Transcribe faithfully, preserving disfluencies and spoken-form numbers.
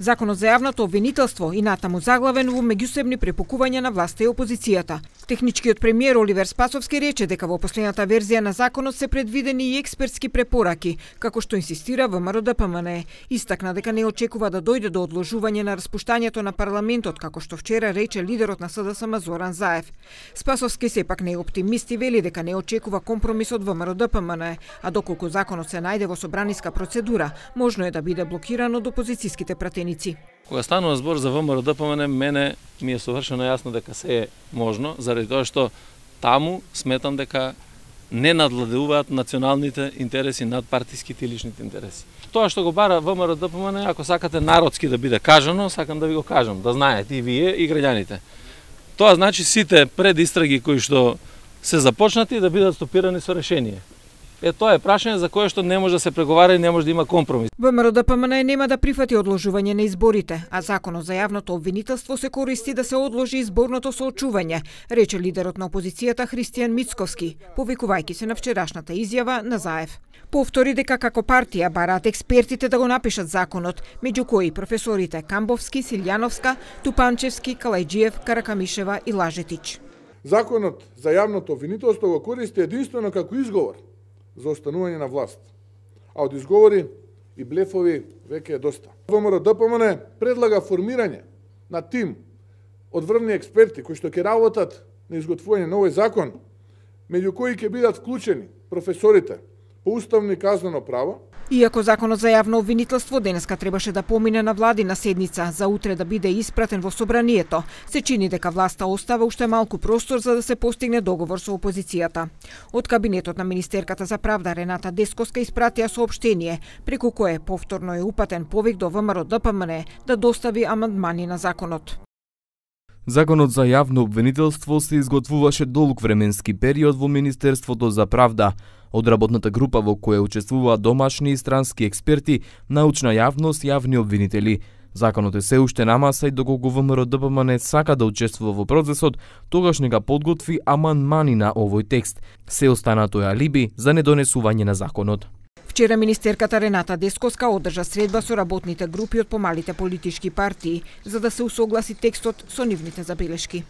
Законот за јавното обвинителство и натаму заглавен во меѓусебни препукувања на власта и опозицијата. Техничкиот премиер Оливер Спасовски рече дека во последната верзија на законот се предвидени и експертски препораки, како што инсистира ВМРО-ДПМН. Истакна дека не очекува да дојде до одложување на распуштањето на парламентот, како што вчера рече лидерот на СДСМ Зоран Заев. Спасовски сепак не е оптимист и вели дека не очекува компромис од ВМРО-ДПМН, а доколку законот се најде во собраниска процедура, можно е да биде блокиран од опозицијските пратеници. Кога станува збор за ВМРО-ДПМН, мене ми е совршено јасно дека се е можно, заради тоа што таму сметам дека не надвладуваат националните интереси над партиските и личните интереси. Тоа што го бара ВМРО-ДПМН, ако сакате народски да биде кажано, сакам да ви го кажам, да знаете и вие и граѓаните. Тоа значи сите предистраги кои што се започнати да бидат стопирани со решение. Е, тоа е прашање за кое што не може да се преговара и не може да има компромис. ВМРО-ДПМН нема да прифати одложување на изборите, а законот за јавното обвинителство се користи да се одложи изборното соочување, рече лидерот на опозицијата Христијан Мицковски, повикувајќи се на вчерашната изјава на Заев. Повтори дека како партија бараат експертите да го напишат законот, меѓу кои професорите Камбовски, Силјановска, Тупанчевски, Калајџиев, Каракамишева и Лажетич. Законот за јавното обвинителство го користи единствено како изговор за останување на власт. А од изговори и блефови веќе е доста. ВМРО-ДПМН предлага формирање на тим од врвни експерти кои што ќе работат на изготвување на овој закон, меѓу кои ќе бидат вклучени професорите по уставно и казнено право. Иако законот за јавно обвинителство денеска требаше да помине на владина седница за утре да биде испратен во собранието, се чини дека власта остава уште малку простор за да се постигне договор со опозицијата. Од кабинетот на министерката за правда Рената Десковска испратија соопштение, преку кое повторно е упатен повик до ВМРО-ДПМН да достави амандмани на законот. Законот за јавно обвинителство се изготвуваше долг временски период во Министерството за правда. Од работната група во која учествуваат домашни и странски експерти, научна јавност, јавни обвинители. Законот е се уште на маса и доколку ВМРО-ДПМН сака да учествува во процесот, тогаш нека подготви амандмани на овој текст. Се останато е алиби за недонесување на законот. Вчера министерката Рената Десковска одржа средба со работните групи од помалите политички партии за да се усогласи текстот со нивните забелешки.